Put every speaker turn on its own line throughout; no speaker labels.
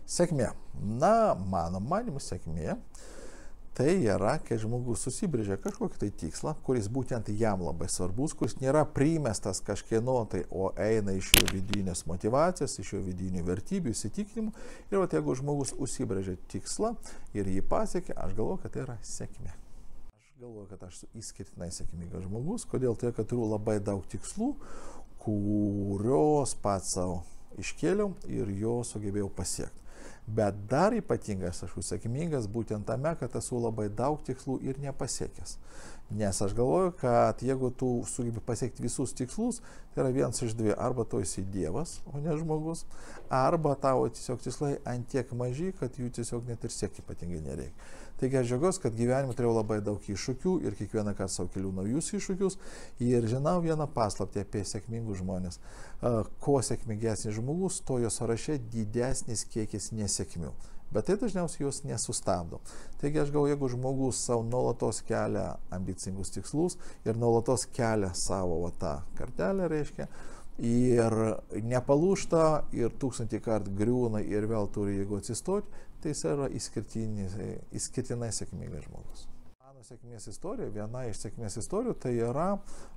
Sėkmė. Na, mano manimu, sėkmė tai yra, kai žmogus susibrėžia kažkokį tai tikslą, kuris būtent jam labai svarbus, kuris nėra primestas kažkieno tai, o eina iš jo vidinės motyvacijos, iš jo vidinių vertybių, įsitikinimų. Ir vat, jeigu žmogus užsibrėžia tikslą ir jį pasiekia, aš galvoju, kad tai yra sėkmė. Aš galvoju, kad aš esu išskirtinai sėkmingas žmogus. Kodėl? Tai, kad turiu labai daug tikslų, kurios pats savo iškėliau ir jo sugebėjau pasiekti. Bet dar ypatingas aš esu sėkmingas būtent tame, kad esu labai daug tikslų ir nepasiekęs. Nes aš galvoju, kad jeigu tu sugebi pasiekti visus tikslus, tai yra vienas iš dviejų. Arba tu esi dievas, o ne žmogus, arba tavo tiesiog tikslai antiek maži, kad jų tiesiog net ir siekti ypatingai nereikia. Taigi aš džiaugiuosi, kad gyvenime turėjau labai daug iššūkių ir kiekvieną kartą savo keliu naujus iššūkius ir žinau vieną paslaptį apie sėkmingus žmonės. Kuo sėkmingesnis žmogus, to jo sąraše didesnis kiekis nesėkmių. Bet tai dažniausiai jos nesustabdo. Taigi aš galvoju, jeigu žmogus savo nuolatos kelia ambicingus tikslus ir nuolatos kelia savo tą kartelę, reiškia, ir nepalūžta, ir 1000 kartų griūna ir vėl turi jėgų atsistoti, tai jis yra išskirtinai sėkmingas žmogus. Mano sėkmės istorija, viena iš sėkmės istorijų, tai yra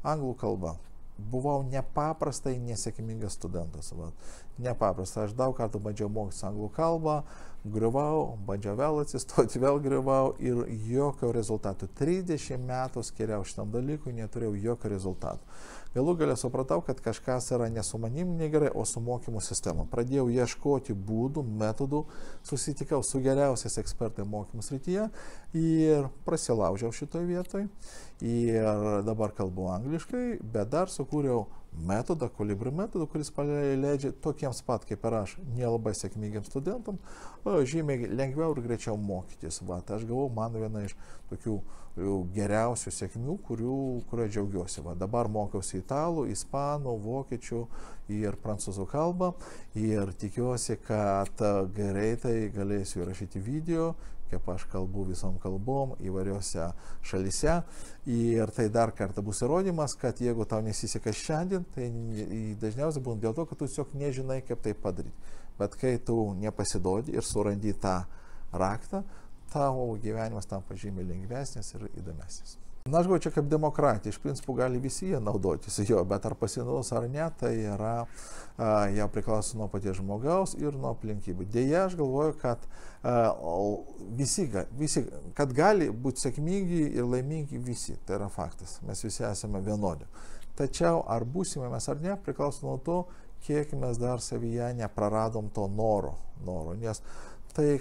anglų kalba. Buvau nepaprastai nesėkmingas studentas. Nepaprastai. Aš daug kartų bandžiau mokytis anglų kalbą, griuvau, bandžiau vėl atsistoti, vėl griuvau ir jokio rezultato. 30 metų skiriau šitam dalykui, neturėjau jokio rezultato. Galų galę supratau, kad kažkas yra ne su manim negerai, o su mokymo sistema. Pradėjau ieškoti būdų, metodų, susitikau su geriausiais ekspertai mokymų srityje ir prasilaužiau šitoje vietoje. Ir dabar kalbu angliškai, bet dar sukūriau metodą, kolibri metodą, kuris leidžia tokiems pat kaip ir aš, nelabai sėkmingiams studentams, žymiai lengviau ir greičiau mokytis. Aš gavau mano vieną iš tokių geriausių sėkmių, kurio džiaugiuosi. Dabar mokiausi italų, ispanų, vokiečių ir prancūzų kalbą ir tikiuosi, kad greitai galėsiu įrašyti video, kaip aš kalbu visom kalbom įvairiose šalyse. Ir tai dar kartą bus įrodymas, kad jeigu tau nesiseka šiandien, tai dažniausiai būna dėl to, kad tu tiesiog nežinai, kaip tai padaryti. Bet kai tu nepasidodi ir surandi tą raktą, tavo gyvenimas tampa žymiai lengvesnis ir įdomesnis. Na, aš galvoju, čia kaip demokratija, iš principų gali visi jie naudotis jo, bet ar pasinaudos ar ne, tai yra, jau priklauso nuo paties žmogaus ir nuo aplinkybių. Deja, aš galvoju, kad kad gali būti sėkmingi ir laimingi visi, tai yra faktas, mes visi esame vienodi. Tačiau ar būsime mes ar ne, priklauso nuo to, kiek mes dar savyje nepraradom to noro, nes tai,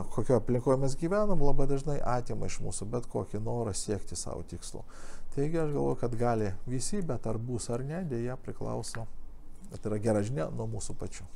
kokio aplinkoje mes gyvenam, labai dažnai atima iš mūsų bet kokį norą siekti savo tikslų. Taigi aš galvoju, kad gali visi, bet ar bus ar ne, dėja priklauso, tai yra gera žinia, nuo mūsų pačių.